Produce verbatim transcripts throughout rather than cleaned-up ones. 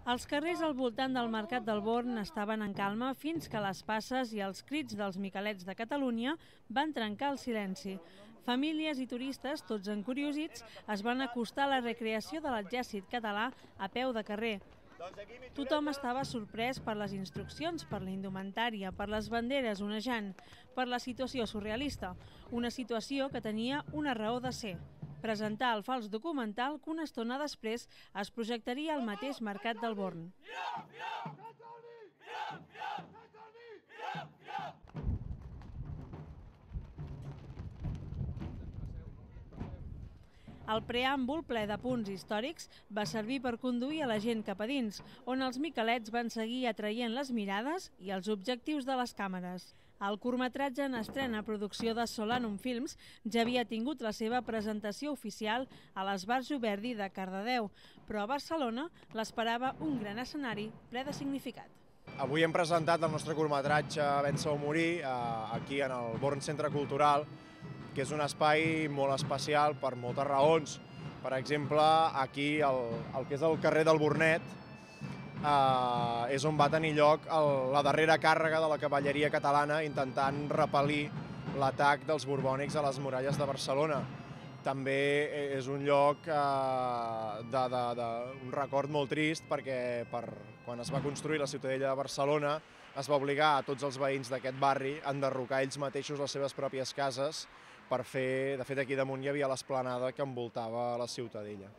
Els carrers al voltant del Mercat del Born estaven en calma fins que les passes i els crits dels Micalets de Catalunya van trencar el silenci. Famílies i turistes, tots encuriosits, es van acostar a la recreació de l'exèrcit català a peu de carrer. Tothom estava sorprès per les instruccions, per la indumentària, per les banderes onejant, per la situació surrealista, una situació que tenia una raó de ser: presentar el fals documental que una estona després es projectaria al mateix Mercat del Born. El preàmbul, ple de punts històrics, va servir per conduir a la gent cap a dins, on els Micalets van seguir atraient les mirades i els objectius de les càmeres. El curtmetratge en estrena producció de Solanum Films ja havia tingut la seva presentació oficial a l'Esbarjo Verdi de Cardedeu, però a Barcelona l'esperava un gran escenari ple de significat. Avui hem presentat el nostre curtmetratge Vèncer o morir aquí en el Born Centre Cultural, que és un espai molt especial per moltes raons. Per exemple, aquí, el, el que és el carrer del Bornet, eh, és on va tenir lloc el, la darrera càrrega de la cavalleria catalana intentant repel·lir l'atac dels borbònics a les muralles de Barcelona. També és un lloc, eh, de, de, de, un record molt trist, perquè per, quan es va construir la Ciutadella de Barcelona es va obligar a tots els veïns d'aquest barri a enderrocar ells mateixos les seves pròpies cases per fer, de fet aquí damunt hi havia l'esplanada que envoltava la Ciutadella.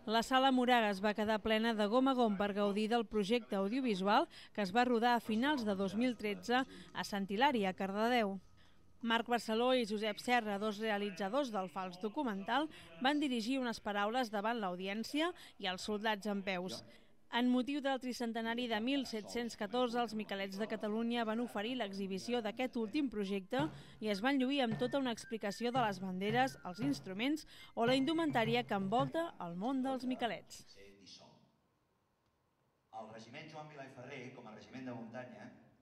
La Sala Moragas va quedar plena de gom a gom per gaudir del projecte audiovisual que es va rodar a finals de dos mil tretze a Sant Hilari, a Cardedeu. Marc Barceló i Josep Serra, dos realitzadors del fals documental, van dirigir unes paraules davant l'audiència i els soldats en peus. En motiu del tricentenari de mil set-cents catorze, els Micalets de Catalunya van oferir l'exhibició d'aquest últim projecte i es van lluir amb tota una explicació de les banderes, els instruments o la indumentària que envolta el món dels Micalets. El regiment Joan Milà i Ferrer, com a regiment de muntanya,